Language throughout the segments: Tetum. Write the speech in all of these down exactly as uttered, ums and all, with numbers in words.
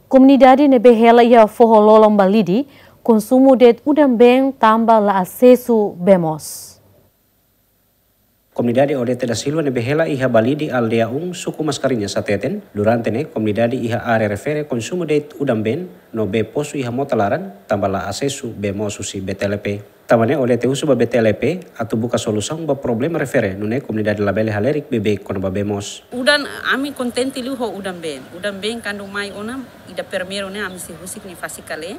Komunidade ne'ebé hela iha foho-lolon Balide konsumu de'it udan-been tanba la asesu bee moos. Komunidade Odete da Silva ne'ebé hela iha Balide, aldeia um, suku Mascarenhas hateten, durante ne'e komunidade iha área refere konsumu de'it udan-been no bee posu iha mota laran tanba la asesu bee moos husi B T L P. Tanba ne'e Odete husu ba B T L P atu buka solusaun ba problema refere, nune'e komunidade labele halerik beibeik kona-ba bee moos. Udan, ami kontente liu ho udan-been. Udan-been kuandu mai ona, ida primeiru ne'e ami sei husik nia fase kale,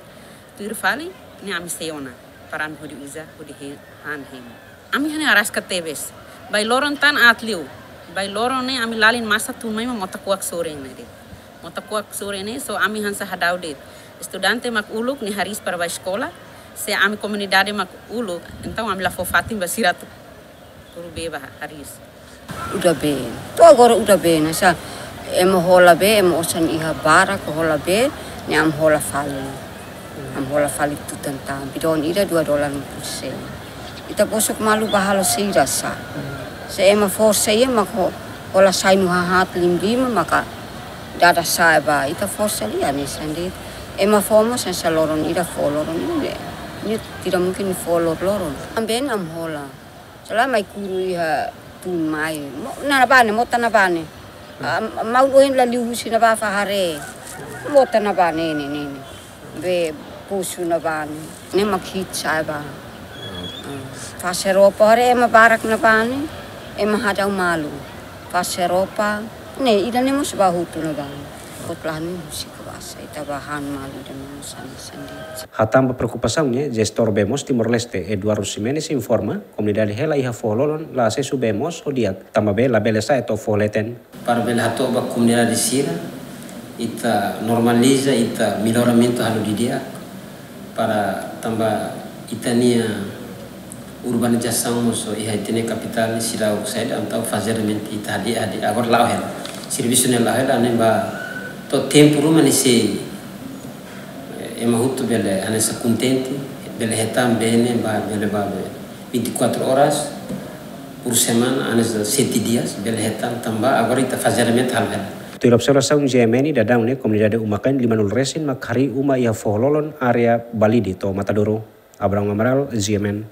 tuir fali ne'e ami sei ona, para ami hodi uza, hodi he-, han hemu. Ami hane araska tebes. Bai loron tan aat liu. Bai loron ne'e ami lalin masa tun mai mak mota kuak sorin ne'e de'it. Mota kuak sorin ne'e, so ami hanesan hadau de'it. Estudante mak uluk nia hariis para bai eskola, se ami komunidade mak uluk, entaun ami la fó fatin ba sira atu kuru bee ba hariis. Udan-been. To'o agora udan-been, hanesan ema hola bee, ema osan iha barak hola bee, ne'e ami hola fali. Ami hola fali tutan tan, bidon ida dua dolar lima puluh sen. Ita bosok malu ba halo saida sá. Se ema forsa iha mak ho-, hola sai no haat lim-lima maka dada sa'e ba. Ita forsa liu hanesan de'it. Ema fó mós hanesan loron ida fó, loron ida ne'e. Ne'e tidak mungkin fó lor-loron. Ami-been ami hola. Selama mai kuru iha tun mai. Mo-, nabane, mota nabane. Am-, maun ohin la liu husi ne'ebá fó haree. Mota nabane ne'e, ne'e, ne'e. Bee posu nabane. Ne'e mak hiit sa'e ba. Ah, fase roupa haree ema barak nabane. Ema hadau malu. Fase roupa. Ne'e, ida-ne'e mós ba hotu nabane. Kot lahan ne'e husik basa. Ita ba han malu ida-ne'e mós hanesan de'it. Hatán ba preokupasaun ne'e, jestór bee moos Timor-Leste, Eduardo Ximenes, informa, komunidade hela iha foho-lolon la asesu bee moos ho di'ak, tanba bee labele sa'e to'o foho leten. Para bele hato'o ba komunidade sira, ita normaliza, ita melloramentu halo didi'ak, para tanba ita-nia urbanizasaun mós iha ita-nia kapitál ne'e seidauk saida, entaun fazeadamente ita hadi'a, hadi'a. Agora la'o hela. Servisu ne'e la'o hela, ne'e ba to'o tempu ruma ne'e sei, eh, ema hotu bele hanesan kontente, bele hetan bee ne'e ba, bele ba, be, vinte e quatro horas por semana, hanesan sete dias, bele hetan tanba agora ita fazeadamente halo hela. Tuir observasaun G M N, daudaun ne'e komunidade uma-kain lima nulu resin mak harii uma iha foho-lolon área Balide to'o Matadouro. Abrão Amaral, G M N.